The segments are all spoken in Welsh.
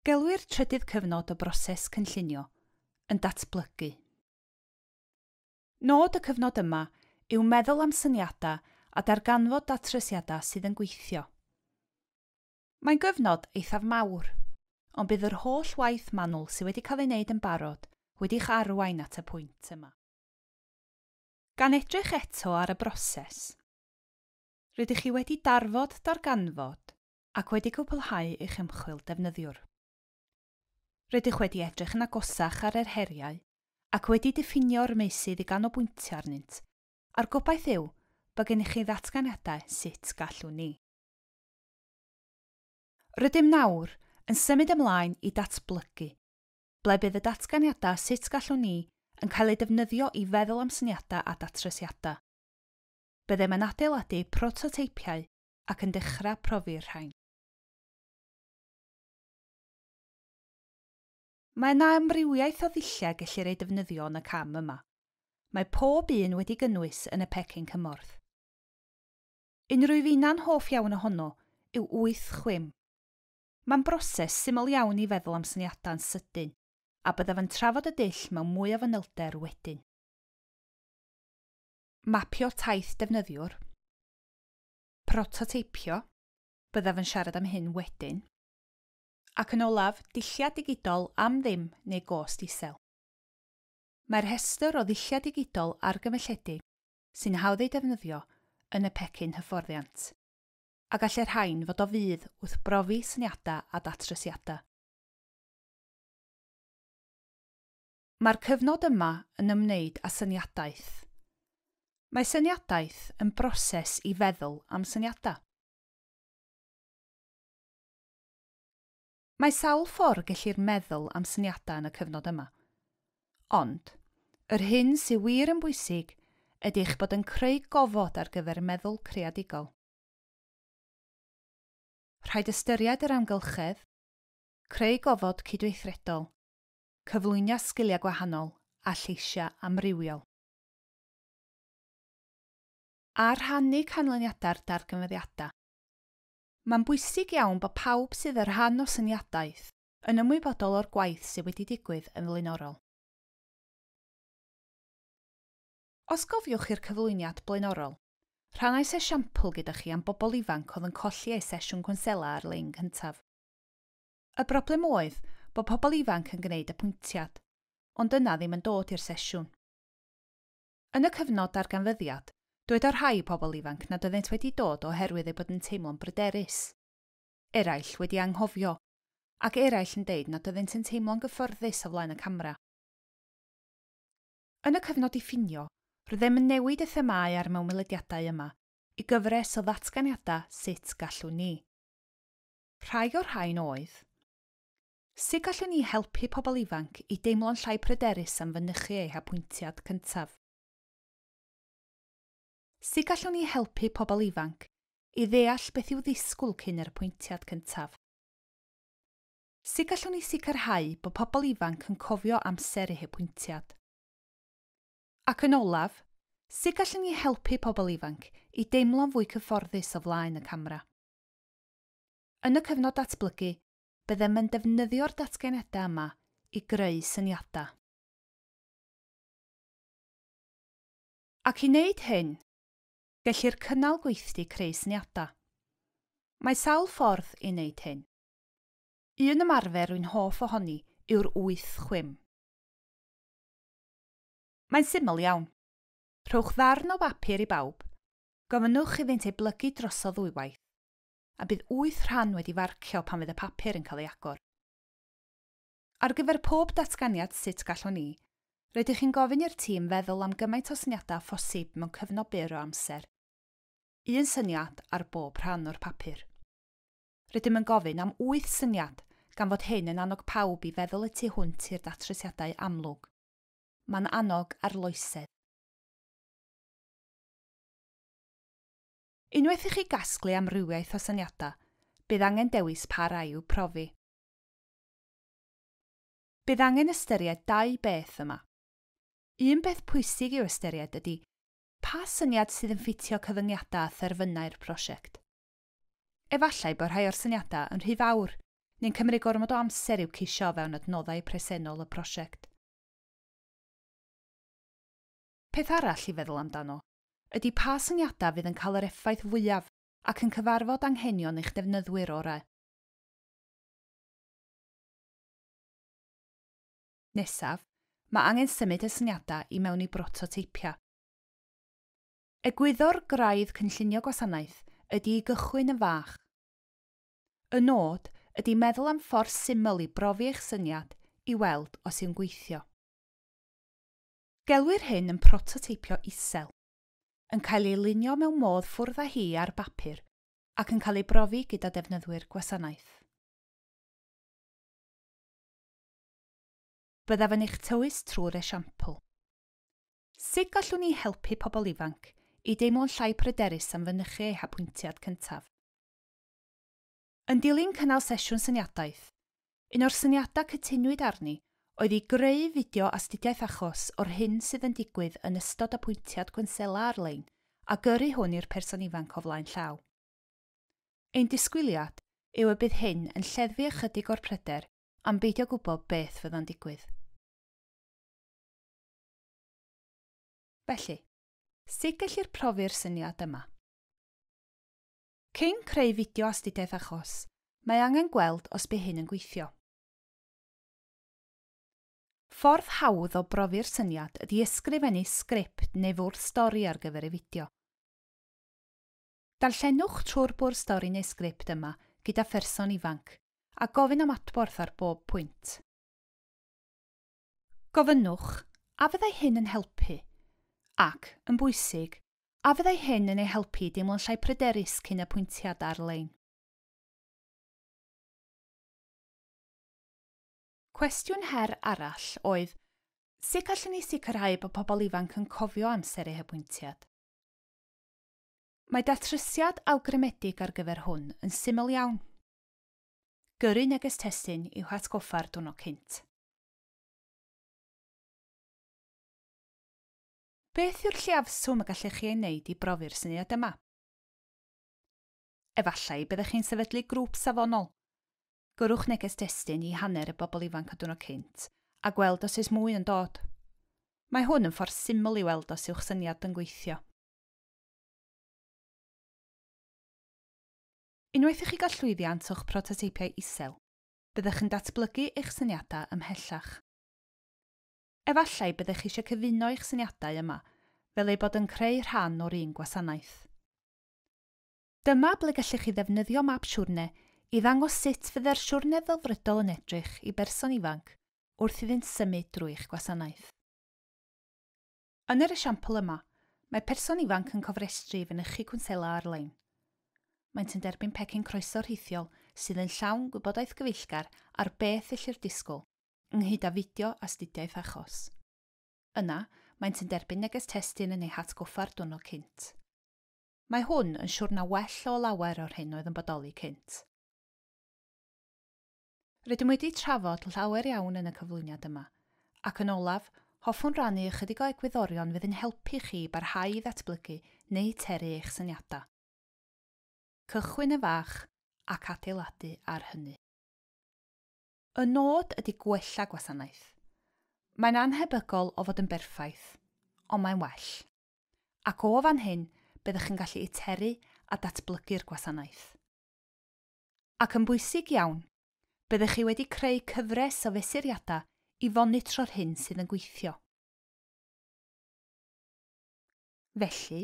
Gelwir trydydd cyfnod y broses cynllunio yn datblygu. Nod y cyfnod yma yw meddwl am syniadau a darganfod datrysiadau sydd yn gweithio. Mae'n gyfnod eithaf mawr, ond bydd yr holl waith manwl sydd wedi cael ei wneud yn barod wedi'ch arwain at y pwynt yma. Gan edrych eto ar y broses, rydych chi wedi darfod darganfod ac wedi cwblhau eich ymchwil defnyddiwr. Rydych wedi edrych yn agosach ar yr heriau ac wedi diffinio'r meysydd i ganolbwyntio arnynt, a'r gobaith yw bod gennych chi ddatganiadau sut gallwn ni. Rydym nawr yn symud ymlaen i datblygu, ble bydd y datganiadau sut gallwn ni yn cael eu defnyddio i feddwl am syniadau a datrysiadau. Byddem yn adeiladu prototeipiau ac yn dechrau profi'r rhain. Mae yna amrywiaeth o ddulliau gellir eu defnyddio yn y cam yma. Mae pob un wedi gynnwys yn y pecyn cymorth. Unrhyw fi'na'n hoff iawn ohono yw 8 chwim. Mae'n broses syml iawn i feddwl am syniadau'n sydyn, a byddaf yn trafod y dull mewn mwy o fanylder wedyn. Mapio taith defnyddiwr. Prototeipio. Byddaf yn siarad am hyn wedyn. Ac yn olaf, dulliau digidol am ddim neu gost isel. Mae'r rhestr o ddulliau digidol argymelledig sy'n hawdd eu defnyddio yn y pecyn hyfforddiant, a gall y rhain fod o fudd wrth brofi syniadau a datrysiadau. Mae'r cyfnod yma yn ymwneud â syniadaeth. Mae syniadaeth yn broses i feddwl am syniadau. Mae sawl ffordd gellir meddwl am syniadau yn y cyfnod yma. Ond, yr hyn sydd wir yn bwysig ydy eich bod yn creu gofod ar gyfer meddwl creadigol. Rhaid ystyried yr amgylchedd, creu gofod cydweithredol, cyflwyno sgiliau gwahanol a lleisiau amrywiol. A rhannu canlyniadau'r darganfyddiadau. Mae'n bwysig iawn bod pawb sydd yn rhan o syniadaeth yn ymwybodol o'r gwaith sydd wedi digwydd yn flaenorol. Os gofiwch i'r cyflwyniad blaenorol, rhannais esiampl gyda chi am bobl ifanc oedd yn colli eu sesiwn cwnsela ar-lein cyntaf. Y broblem oedd bod pobl ifanc yn gwneud apwyntiad, ond yna ddim yn dod i'r sesiwn. Yn y cyfnod darganfyddiad, dwedodd rhai pobl ifanc nad oeddent wedi dod oherwydd eu bod yn teimlo'n bryderus. Eraill wedi anghofio, ac eraill yn deud nad oeddent yn teimlo'n gyfforddus o flaen y camera. Yn y cyfnod diffinio, roeddem yn newid y themâu a'r mewnwelediadau yma i gyfres o ddatganiadau sut gallwn ni. Rhai o'r rhain oedd: sut gallwn ni helpu pobl ifanc i deimlo'n llai pryderus am fynychu eu hapwyntiad cyntaf? Sut gallwn ni helpu pobl ifanc i ddeall beth i'w ddisgwyl cyn yr apwyntiad cyntaf? Sut gallwn ni sicrhau bod pobl ifanc yn cofio amser eu hapwyntiad? Ac yn olaf, sut gallwn ni helpu pobl ifanc i deimlo'n fwy cyfforddus o flaen y camera? Yn y cyfnod datblygu, byddem yn defnyddio'r datganiadau yma i greu syniadau. Ac i wneud hyn, gellir cynnal gweithdy creu syniadau. Mae sawl ffordd i wneud hyn. Un ymarfer rwy'n hoff ohoni yw'r 8 chwim. Mae'n syml iawn. Rhowch ddarn o bapur i bawb, gofynnwch iddynt ei blygu drosodd ddwywaith, a bydd 8 rhan wedi farcio pan fydd y papur yn cael ei agor. Ar gyfer pob datganiad sut gallwn ni, rydych chi'n gofyn i'r tîm feddwl am gymaint o syniadau phosib mewn cyfnod byr o amser. Un syniad ar bob rhan o'r papur. Rydym yn gofyn am 8 syniad, gan fod hyn yn annog pawb i feddwl y tu hwnt i'r datrysiadau amlwg. Mae'n annog arloesedd. Unwaith i chi gasglu amrywiaeth o syniadau, bydd angen dewis pa rai i'w profi. Bydd angen ystyried 2 beth yma. Un beth pwysig i'w ystyried ydy pa syniad sydd yn ffitio cyfyngiadau a therfynau'r prosiect. Efallai bod rhai o'r syniadau yn rhy fawr neu'n cymryd gormod o amser i'w ceisio fewn adnoddau presennol y prosiect. Peth arall i feddwl amdano ydy pa syniadau fydd yn cael yr effaith fwyaf ac yn cyfarfod anghenion eich defnyddwyr orau. Nesaf, mae angen symud y syniadau i mewn i brototeipiau. Egwyddor graidd cynllunio gwasanaeth ydy i gychwyn yn fach. Y nod ydy meddwl am ffordd syml i brofi eich syniad i weld os yw'n gweithio. Gelwir hyn yn prototeipio isel, yn cael ei lunio mewn modd ffwrdd â hi ar bapur ac yn cael ei brofi gyda defnyddwyr gwasanaeth. Byddaf yn eich tywys trwy'r esiampl. Sut gallwn ni helpu pobl ifanc i deimlo'n llai pryderus am fynychu eu hapwyntiad cyntaf? Yn dilyn cynnal sesiwn syniadaeth, un o'r syniadau cytunwyd arni oedd i greu fideo astudiaeth achos o'r hyn sydd yn digwydd yn ystod apwyntiad cwnsela ar-lein a gyrru hwn i'r person ifanc o flaen llaw. Ein disgwyliad yw y bydd hyn yn lleddfu ychydig o'r pryder am beidio gwybod beth fydda'n digwydd. Felly, sut gellir profi'r syniad yma? Cyn creu fideo astudiaeth achos, mae angen gweld os bydd hyn yn gweithio. Ffordd hawdd o brofi'r syniad ydy ysgrifennu sgript neu fwrdd stori ar gyfer y fideo. Darllenwch trwy'r bwrdd stori neu sgript yma gyda pherson ifanc a gofyn am adborth ar bob pwynt. Gofynnwch, a fyddai hyn yn helpu? Ac, yn bwysig, a fyddai hyn yn ei helpu i deimlo'n llai pryderus cyn apwyntiad ar-lein? Cwestiwn her arall oedd, sut gallwn ni sicrhau bod pobl ifanc yn cofio amser eu hapwyntiad? Mae datrysiad awgrymedig ar gyfer hwn yn syml iawn. Gyrru neges testun i'w hatgoffa'r diwrnod cynt. Beth yw'r lleiafswm y gallech chi ei wneud i brofi'r syniad yma? Efallai byddech chi'n sefydlu grŵp safonol. Gyrrwch neges destun i hanner y bobl ifanc y diwrnod cynt a gweld os oes mwy yn dod. Mae hwn yn ffordd syml i weld os yw'ch syniad yn gweithio. Unwaith i chi gael llwyddiant o'ch prototeipiau isel, byddech yn datblygu eich syniadau ymhellach. Efallai byddech chi eisiau cyfuno eich syniadau yma, fel eu bod yn creu rhan o'r un gwasanaeth. Dyma ble gallech chi ddefnyddio map siwrne i ddangos sut fydde'r siwrne ddelfrydol yn edrych i berson ifanc wrth iddynt symud drwy eich gwasanaeth. Yn yr esiampl yma, mae person ifanc yn cofrestru i fynychu cwnsela ar-lein. Maent yn derbyn pecyn croeso rhithiol sydd yn llawn gwybodaeth gyfeillgar ar beth ellir disgwyl, ynghyd â fideo astudiaeth achos. Yna, maent yn derbyn neges testun yn eu hatgoffa'r diwrnod cynt. Mae hwn yn siwrna well o lawer o'r hyn oedd yn bodoli cynt. Rydym wedi trafod llawer iawn yn y cyflwyniad yma, ac yn olaf, hoffwn rannu ychydig o egwyddorion fydd yn helpu chi barhau i ddatblygu neu teru eich syniadau. Cychwyn yn fach ac adeiladu ar hynny. Y nod ydy gwella gwasanaeth. Mae'n anhebygol o fod yn berffaith, ond mae'n well. Ac o fan hyn, byddwch yn gallu iteru a datblygu'r gwasanaeth. Ac yn bwysig iawn, byddwch chi wedi creu cyfres o fesuriadau i fonitro'r hyn sydd yn gweithio. Felly,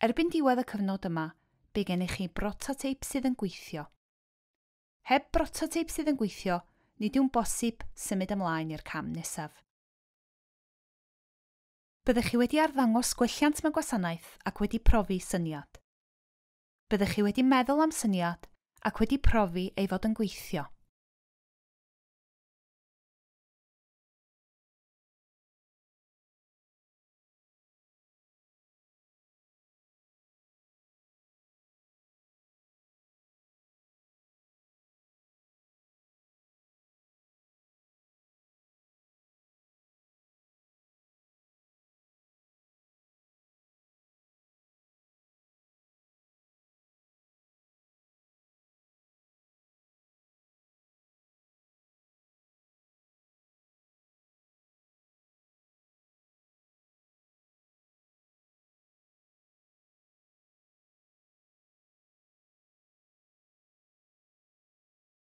erbyn diwedd y cyfnod yma, bydd gennych chi brototeip sydd yn gweithio. Heb brototeip sydd yn gweithio, nid yw'n bosib symud ymlaen i'r cam nesaf. Byddech chi wedi arddangos gwelliant mewn gwasanaeth ac wedi profi syniad. Byddech chi wedi meddwl am syniad ac wedi profi ei fod yn gweithio.